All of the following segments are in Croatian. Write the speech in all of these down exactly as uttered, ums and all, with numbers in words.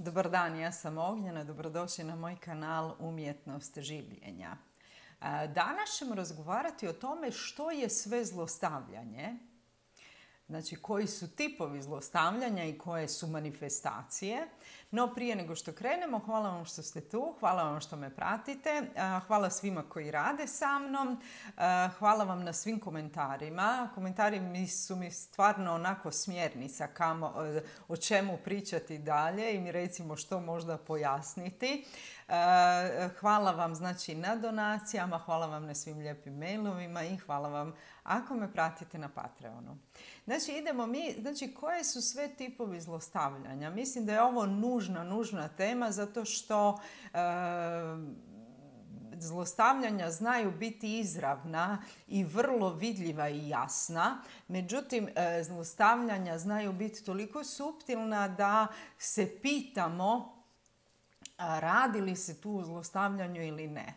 Dobar dan, ja sam Ognjena, dobrodošli na moj kanal Umjetnost življenja. Danas ćemo razgovarati o tome što je sve zlostavljanje, znači koji su tipovi zlostavljanja i koje su manifestacije. No prije nego što krenemo, hvala vam što ste tu, hvala vam što me pratite, hvala svima koji rade sa mnom, hvala vam na svim komentarima. Komentari su mi stvarno onako smjernica kamo, o čemu pričati dalje i mi recimo što možda pojasniti. Hvala vam znači na donacijama, hvala vam na svim lijepim mailovima i hvala vam ako me pratite na Patreonu. Znači idemo mi, znači koje su sve tipovi zlostavljanja? Mislim da je ovo nužna, nužna tema zato što e, zlostavljanja znaju biti izravna i vrlo vidljiva i jasna. Međutim, e, zlostavljanja znaju biti toliko suptilna da se pitamo a, radi li se tu o zlostavljanju ili ne.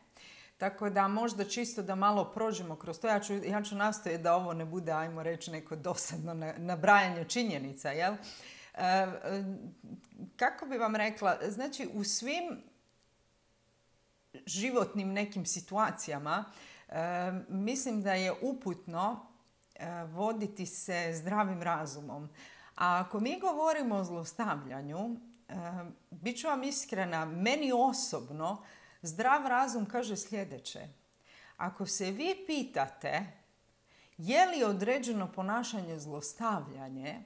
Tako da možda čisto da malo prođemo kroz to. Ja ću, ja ću nastojati da ovo ne bude, ajmo reći, neko dosadno nabrajanje činjenica, jel? E, kako bi vam rekla, znači u svim životnim nekim situacijama e, mislim da je uputno e, voditi se zdravim razumom. A ako mi govorimo o zlostavljanju, e, bit ću vam iskrena, meni osobno zdrav razum kaže sljedeće. Ako se vi pitate je li određeno ponašanje zlostavljanje,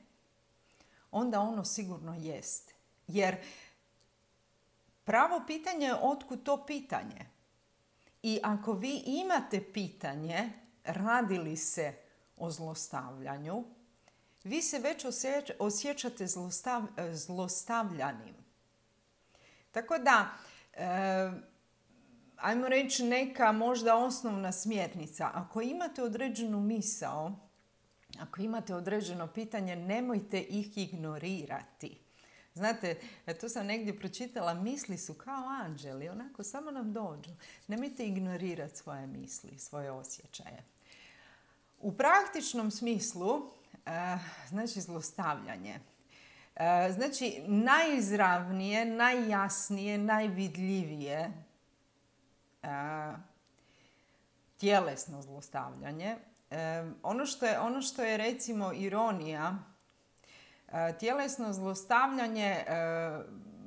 onda ono sigurno jest. Jer pravo pitanje je otkud to pitanje. I ako vi imate pitanje radi li se o zlostavljanju, vi se već osjećate zlostav, zlostavljanim. Tako da, e, ajmo reći neka možda osnovna smjernica. Ako imate određenu misao, ako imate određeno pitanje, nemojte ih ignorirati. Znate, to sam negdje pročitala, misli su kao anđeli, onako samo nam dođu. Nemojte ignorirati svoje misli, svoje osjećaje. U praktičnom smislu, znači zlostavljanje. Znači najizravnije, najjasnije, najvidljivije tjelesno zlostavljanje. Ono što je, ono što je recimo ironija, tjelesno zlostavljanje,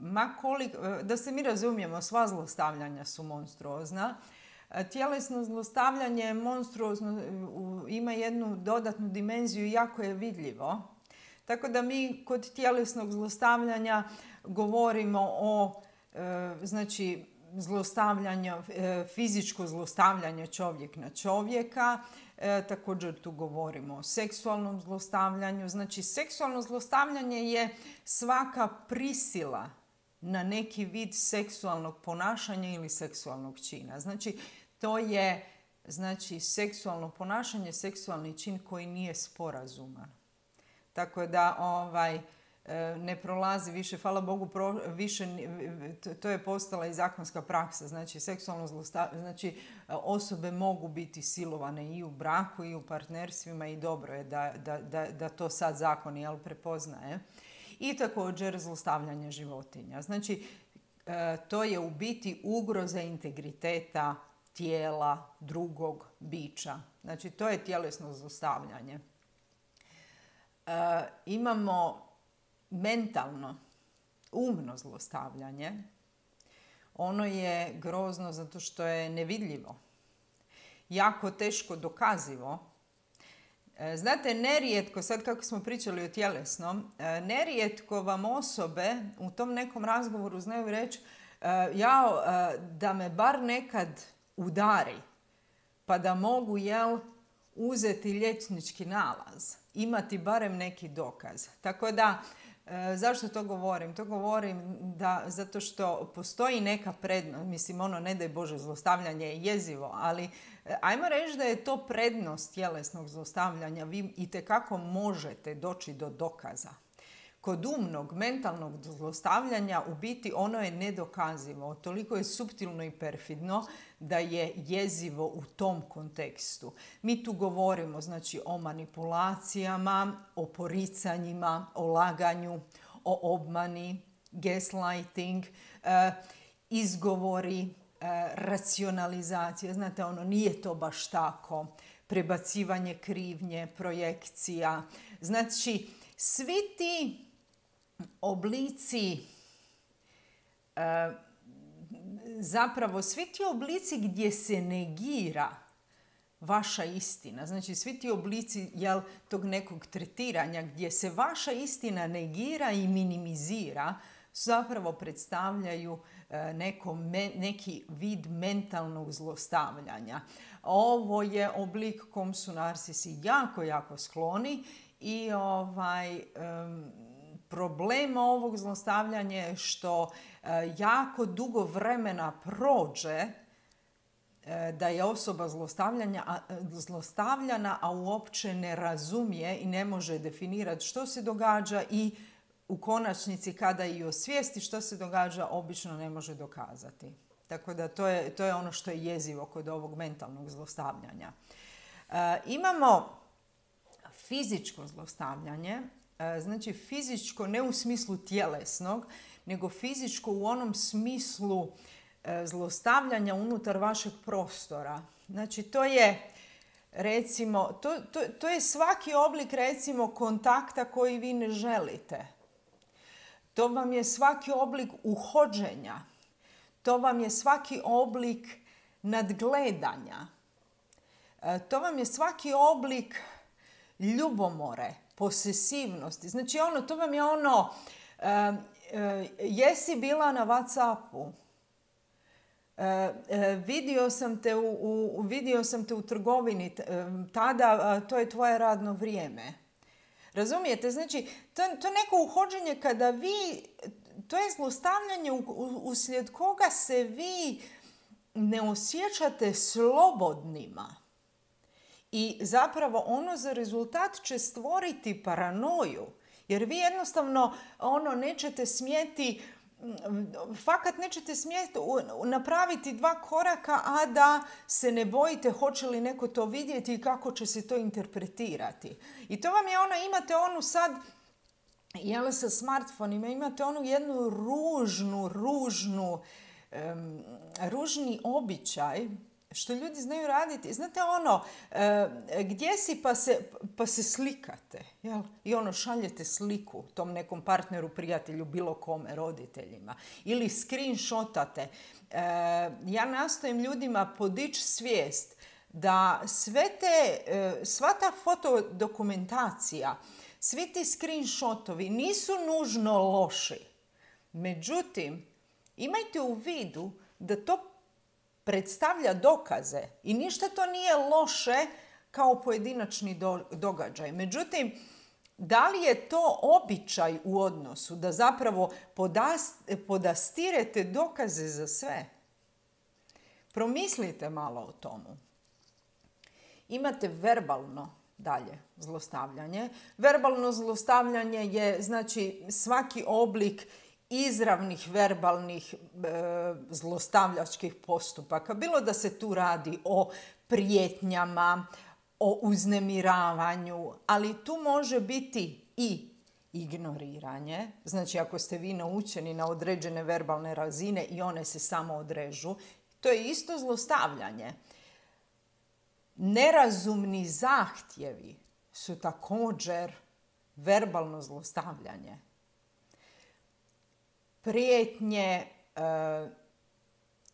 ma koliko, da se mi razumijemo, sva zlostavljanja su monstruozna. Tjelesno zlostavljanje je monstruozno, ima jednu dodatnu dimenziju i jako je vidljivo. Tako da mi kod tjelesnog zlostavljanja govorimo o, znači, zlostavljanje, fizičko zlostavljanje čovjek na čovjeka. E, također tu govorimo o seksualnom zlostavljanju. Znači, seksualno zlostavljanje je svaka prisila na neki vid seksualnog ponašanja ili seksualnog čina. Znači, to je znači, seksualno ponašanje, seksualni čin koji nije sporazuman. Tako da ovaj, ne prolazi više, hvala Bogu, pro, više, to je postala i zakonska praksa. Znači, seksualno zlostavljanje, znači osobe mogu biti silovane i u braku i u partnerstvima i dobro je da, da, da, da to sad zakon jel, prepoznaje. I također zlostavljanje životinja. Znači, to je u biti ugroza integriteta tijela drugog bića. Znači, to je tjelesno zlostavljanje. E, imamo mentalno, umno zlostavljanje. Ono je grozno zato što je nevidljivo. Jako teško dokazivo. Znate, nerijetko, sad kako smo pričali o tjelesnom, nerijetko vam osobe u tom nekom razgovoru znaju reći ja, da me bar nekad udari, pa da mogu, jel, uzeti liječnički nalaz, imati barem neki dokaz. Tako da, zašto to govorim? To govorim da, zato što postoji neka prednost, mislim ono ne daj Bože zlostavljanje je jezivo, ali ajmo reći da je to prednost tjelesnog zlostavljanja. Vi itekako možete doći do dokaza. Kod umnog, mentalnog zlostavljanja u biti ono je nedokazivo. Toliko je suptilno i perfidno da je jezivo u tom kontekstu. Mi tu govorimo znači o manipulacijama, o poricanjima, o laganju, o obmani, gaslighting, izgovori, racionalizacija. Znate, ono, nije to baš tako. Prebacivanje krivnje, projekcija. Znači, svi ti oblici, zapravo svi ti oblici gdje se negira vaša istina, znači svi ti oblici jel, tog nekog tretiranja gdje se vaša istina negira i minimizira, zapravo predstavljaju neko, neki vid mentalnog zlostavljanja. Ovo je oblik kom su narcisi jako, jako skloni i ovaj, um, problem ovog zlostavljanja je što uh, jako dugo vremena prođe uh, da je osoba zlostavljanja, a, zlostavljana, a uopće ne razumije i ne može definirati što se događa i u konačnici kada i osvijesti što se događa, obično ne može dokazati. Tako da to je, to je ono što je jezivo kod ovog mentalnog zlostavljanja. E, imamo fizičko zlostavljanje, e, znači fizičko ne u smislu tjelesnog, nego fizičko u onom smislu e, zlostavljanja unutar vašeg prostora. Znači to je recimo, to, to, to je svaki oblik recimo kontakta koji vi ne želite. To vam je svaki oblik uhođenja. To vam je svaki oblik nadgledanja. To vam je svaki oblik ljubomore, posesivnosti. Znači, ono, to vam je ono, uh, uh, jesi bila na WhatsAppu, uh, uh, vidio sam te u, u, vidio sam te u trgovini, uh, tada uh, to je tvoje radno vrijeme. Razumijete? Znači, to, to neko uhođenje kada vi, to je zlostavljanje uslijed koga se vi ne osjećate slobodnima. I zapravo ono za rezultat će stvoriti paranoju. Jer vi jednostavno ono nećete smjeti, fakat nećete smjeti napraviti dva koraka, a da se ne bojite hoće li neko to vidjeti i kako će se to interpretirati. I to vam je ono, imate onu sad, jel sa smartfonima, imate onu jednu ružnu, ružnu, um, ružni običaj, što ljudi znaju raditi. Znate ono, e, gdje si pa se, pa se slikate, jel? I ono šaljete sliku tom nekom partneru, prijatelju, bilo kome, roditeljima. Ili screenshotate. E, ja nastojim ljudima podići svijest da sve te, e, sva ta fotodokumentacija, svi ti screenshotovi nisu nužno loši. Međutim, imajte u vidu da to predstavlja dokaze i ništa to nije loše kao pojedinačni do, događaj. Međutim, da li je to običaj u odnosu da zapravo podas, podastirete dokaze za sve? Promislite malo o tomu. Imate verbalno dalje zlostavljanje. Verbalno zlostavljanje je znači svaki oblik izravnih verbalnih e, zlostavljačkih postupaka. Bilo da se tu radi o prijetnjama, o uznemiravanju, ali tu može biti i ignoriranje. Znači ako ste vi naučeni na određene verbalne razine i one se samo odrežu, to je isto zlostavljanje. Nerazumni zahtjevi su također verbalno zlostavljanje. Prijetnje e,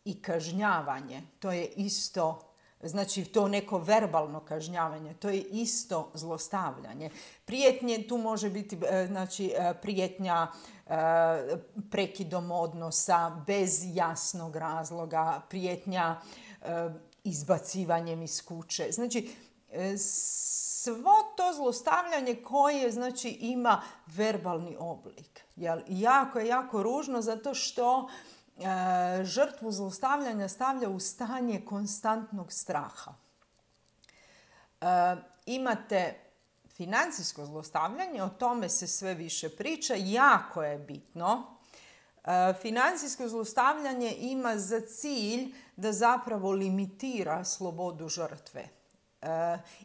i kažnjavanje, to je isto, znači to neko verbalno kažnjavanje, to je isto zlostavljanje. Prijetnje tu može biti e, znači, e, prijetnja e, prekidom odnosa bez jasnog razloga, prijetnja e, izbacivanjem iz kuće. Znači, e, svo to zlostavljanje koje znači, ima verbalni oblik. Jel, jako je jako ružno zato što e, žrtvu zlostavljanja stavlja u stanje konstantnog straha. E, imate financijsko zlostavljanje, o tome se sve više priča, jako je bitno. E, financijsko zlostavljanje ima za cilj da zapravo limitira slobodu žrtve.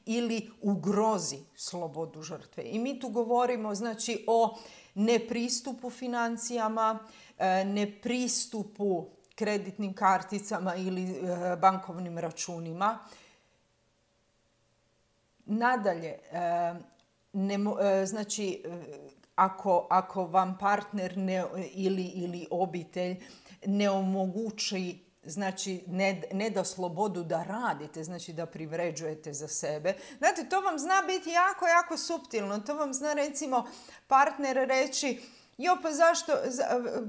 ili ugrozi slobodu žrtve. I mi tu govorimo znači o nepristupu financijama, nepristupu kreditnim karticama ili bankovnim računima. Nadalje, ne, znači ako, ako vam partner ne, ili, ili obitelj ne omogući, znači ne, ne da slobodu da radite, znači da privređujete za sebe. Znate, to vam zna biti jako, jako suptilno. To vam zna recimo partner reći, jo pa zašto,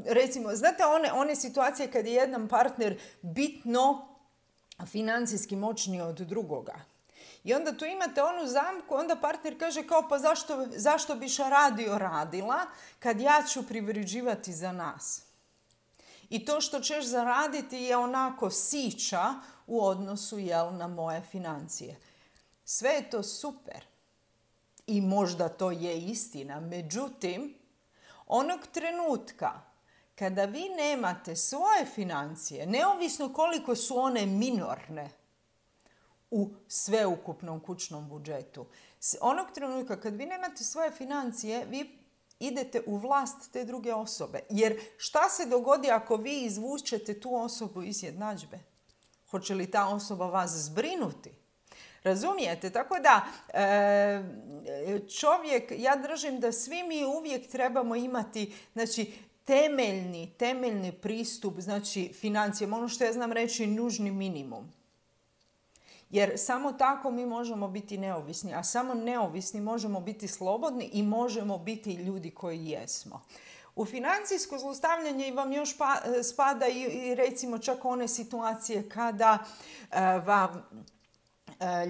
recimo, znate one, one situacije kad je jedan partner bitno financijski moćniji od drugoga. I onda tu imate onu zamku, onda partner kaže kao pa zašto, zašto biš radio radila kad ja ću privređivati za nas. I to što ćeš zaraditi je onako sića u odnosu jel, na moje financije. Sve je to super. I možda to je istina. Međutim, onog trenutka kada vi nemate svoje financije, neovisno koliko su one minorne u sveukupnom kućnom budžetu, onog trenutka kad vi nemate svoje financije, vi idete u vlast te druge osobe. Jer šta se dogodi ako vi izvučete tu osobu iz jednadžbe? Hoće li ta osoba vas zbrinuti? Razumijete? Tako da čovjek, ja držim da svi mi uvijek trebamo imati znači, temeljni, temeljni pristup znači, financijama. Ono što ja znam reći nužni minimum. Jer samo tako mi možemo biti neovisni, a samo neovisni možemo biti slobodni i možemo biti ljudi koji jesmo. U financijsko zlostavljanje vam još pa, spada i, i recimo čak one situacije kada uh, vam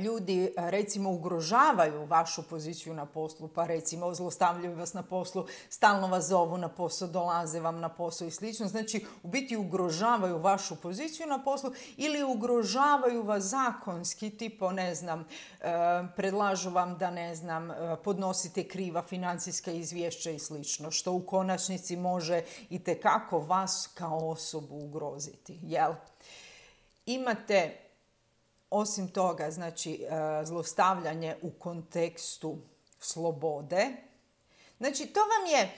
ljudi recimo ugrožavaju vašu poziciju na poslu, pa recimo zlostavljaju vas na poslu, stalno vas zovu na posao, dolaze vam na posao i slično. Znači u biti ugrožavaju vašu poziciju na poslu ili ugrožavaju vas zakonski, tipo ne znam, predlažu vam da ne znam, podnosite kriva financijska izvješća i slično, što u konačnici može itekako vas kao osobu ugroziti. Jel? Imate osim toga, znači, zlostavljanje u kontekstu slobode. Znači, to vam je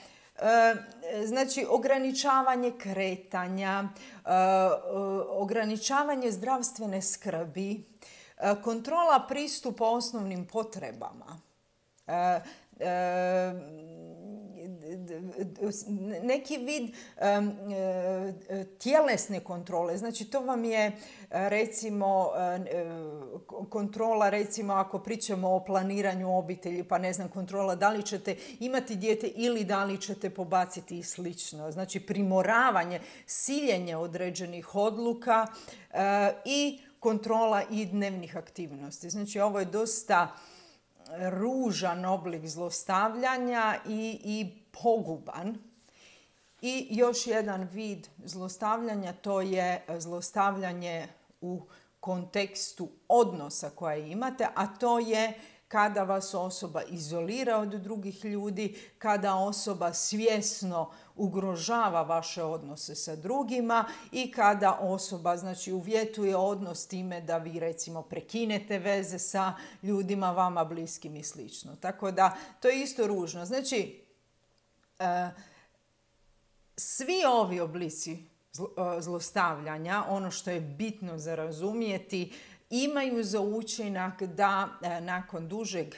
znači, ograničavanje kretanja, ograničavanje zdravstvene skrbi, kontrola pristupa osnovnim potrebama, neki vid um, tjelesne kontrole. Znači to vam je recimo kontrola, recimo ako pričamo o planiranju obitelji, pa ne znam, kontrola da li ćete imati dijete ili da li ćete pobaciti i slično. Znači primoravanje, siljenje određenih odluka uh, i kontrola i dnevnih aktivnosti. Znači ovo je dosta ružan oblik zlostavljanja i, i poguban. I još jedan vid zlostavljanja, to je zlostavljanje u kontekstu odnosa koje imate, a to je kada vas osoba izolira od drugih ljudi, kada osoba svjesno ugrožava vaše odnose sa drugima i kada osoba znači, uvjetuje odnos time da vi recimo prekinete veze sa ljudima vama bliskim i slično. Tako da to je isto ružno. Znači, e, svi ovi oblici zlostavljanja, ono što je bitno za razumjeti, imaju za učinak da e, nakon dužeg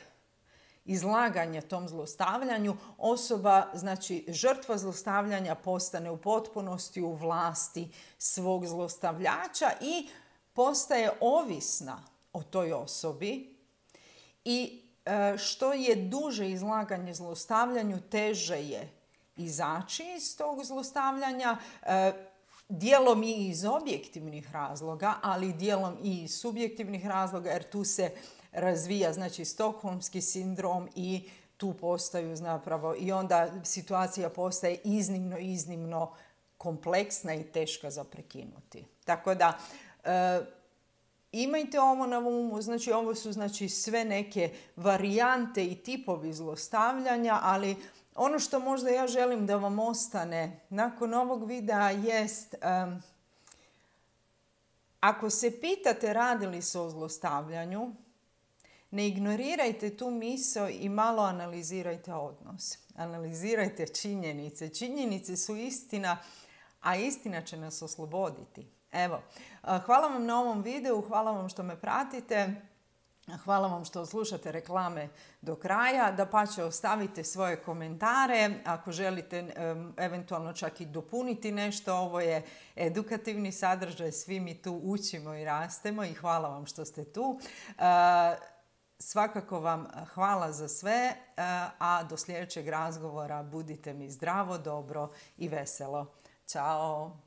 izlaganja tom zlostavljanju osoba, znači žrtva zlostavljanja postane u potpunosti u vlasti svog zlostavljača i postaje ovisna o toj osobi i e, što je duže izlaganje zlostavljanju, teže je izaći iz tog zlostavljanja, e, dijelom i iz objektivnih razloga, ali dijelom i iz subjektivnih razloga, jer tu se razvija znači stokholmski sindrom i tu postaju zapravo i onda situacija postaje iznimno, iznimno kompleksna i teška za prekinuti. Tako da e, imajte ovo na umu, znači ovo su znači sve neke varijante i tipovi zlostavljanja, ali ono što možda ja želim da vam ostane nakon ovog videa jest um, ako se pitate radi li se o zlostavljanju, Ne ignorirajte tu misao i malo analizirajte odnos. Analizirajte činjenice. Činjenice su istina, a istina će nas osloboditi. Evo, hvala vam na ovom videu, hvala vam što me pratite. Hvala vam što slušate reklame do kraja. Dapače, ostavite svoje komentare. Ako želite eventualno čak i dopuniti nešto, ovo je edukativni sadržaj. Svi mi tu učimo i rastemo i hvala vam što ste tu. Svakako vam hvala za sve, a do sljedećeg razgovora budite mi zdravo, dobro i veselo. Ćao!